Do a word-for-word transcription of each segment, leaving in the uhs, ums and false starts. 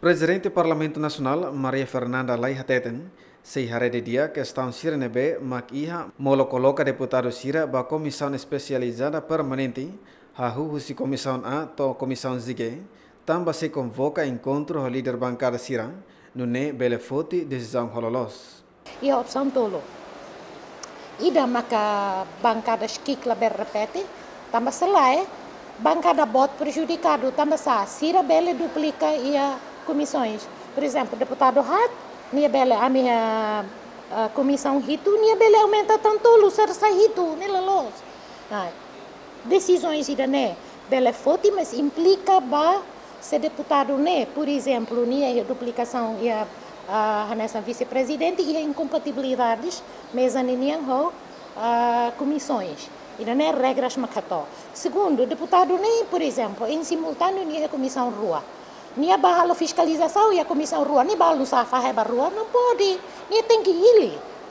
Prezidente Parlamentu Nasionál, Maria Fernanda Lay hateten, sei haree didi'ak kestaun sira ne'ebé mak iha molok koloka deputadu sira ba Komisaun Espesializada Permanente, hahú husi Komisaun A to'o Komisaun Z G, tanba sei konvoka enkontru ho líder bankada sira, nune'e bele foti desizaun ho loloos. Iha opsaun tolu. Ida maka bankada X K I K labele repete, tanba se lae, bankada boot prejudikadu, tanba sá, sira bele duplika iha komisaun. Por ezemplu, deputadu haat, nia bele ami, ah, ah, komisaun hitu, nia bele aumenta tan tolu, sira sai hitu, ne'e loloos. Ah, desizaun ida-ne'e bele foti, mas implika ba se deputadu ne'e, por ezemplu, nia iha duplikasaun iha, ah, hanesan vise-prezidente, iha inkompatibilidades meza ninian ho, ah, komisaun. Ida-ne'e regras mak hato'o. Segundu, deputadu ne'e, por ezemplu, en simultáneu nia iha komisaun rua. Nia bá halo fiskalizasaun iha komisaun rua, nia bá halo nusá, fahe ba rua, não pode. Nia tenke hili.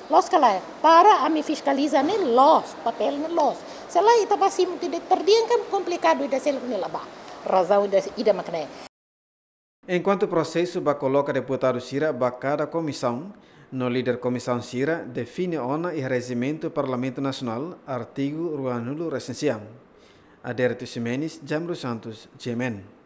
Loos ka lae? Para ami fiskaliza ne'e loos, papél ne'e loos. Se lae ita bá simu ida terdi'ak, komplikadu, ida seluk ne'e la bá. Razaun ida, ida mak ne'e. Enkuantu prosesu ba koloka deputadu sira ba kada komisaun, no líder komisaun sira define ona iha Rejimentu Parlamentu Nasionál, artigu ruanulu-resin-sia. Adérito Ximenes, Jamro Santos, G M N.